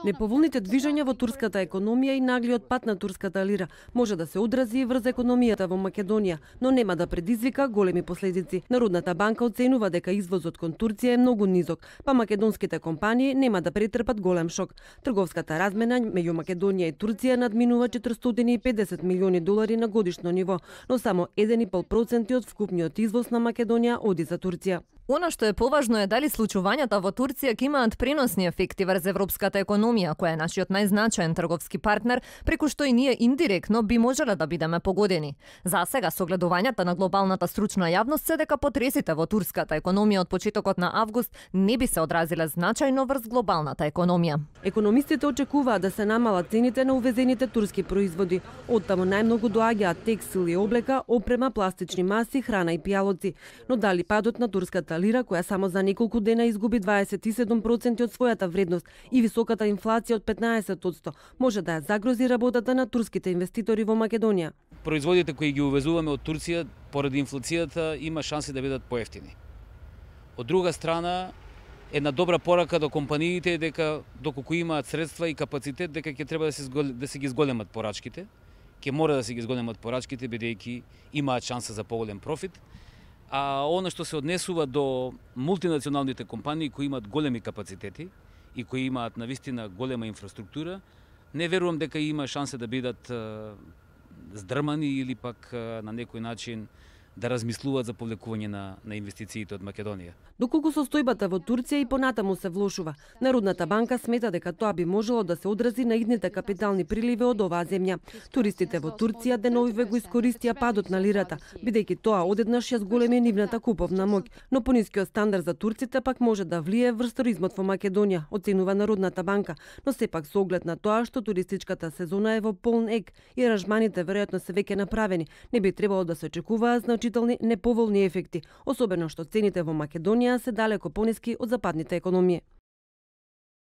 Неповолните движења во турската економија и наглиот пат на турската лира може да се одрази и врз економијата во Македонија, но нема да предизвика големи последици. Народната банка оценува дека извозот кон Турција е многу низок, па македонските компании нема да претрпат голем шок. Трговската размена меѓу Македонија и Турција надминува 450 милиони долари на годишно ниво, но само 1,5% од вкупниот извоз на Македонија оди за Турција. Она што е поважно е дали случувањата во Турција ќе имаат преносни ефекти врз европската економија, која е нашиот најзначаен трговски партнер, преку што и ние индиректно би можеле да бидеме погодени. За сега согледувањата на глобалната стручна јавност се дека потресите во турската економија од почетокот на август не би се одразиле значајно врз глобалната економија. Економистите очекуваат да се намалат цените на увезените турски производи. Оттаму најмногу доаѓаат текстил и облека, опрема, пластични маси, храна и пијалоци. Но дали падот на турската лира, која само за неколку дена изгуби 27% од својата вредност и високата инфлација од 15%, може да ја загрози работата на турските инвеститори во Македонија. Производите кои ги увезуваме од Турција поради инфлацијата има шанси да бидат поевтини. Од друга страна, една добра порака до компаниите е дека доколку имаат средства и капацитет, дека ќе треба да се ги зголемат порачките, ќе мора да се ги зголемат порачките бидејќи имаат шанса за поголем профит. А оно што се однесува до мултинационалните компании кои имаат големи капацитети и кои имаат навистина голема инфраструктура, не верувам дека има шанса да бидат здрмани или пак на некој начин да размислуваат за повлекување на инвестициите од Македонија. Доколку состојбата во Турција и понатаму се влошува, Народната банка смета дека тоа би можело да се одрази на идните капитални приливи од оваа земја. Туристите во Турција деновиве го искористија падот на лирата, бидејќи тоа одеднаш ја зголеми нивната куповна моќ, но понискиот стандард за турците пак може да влие врз туризмот во Македонија, оценува Народната банка, но сепак со оглед на тоа што туристичката сезона е во полн ек и аранжманите веројатно се веќе направени, не би требало да се очекуваат значителни неповолни ефекти, особено што цените во Македонија се далеко пониски од западните економии.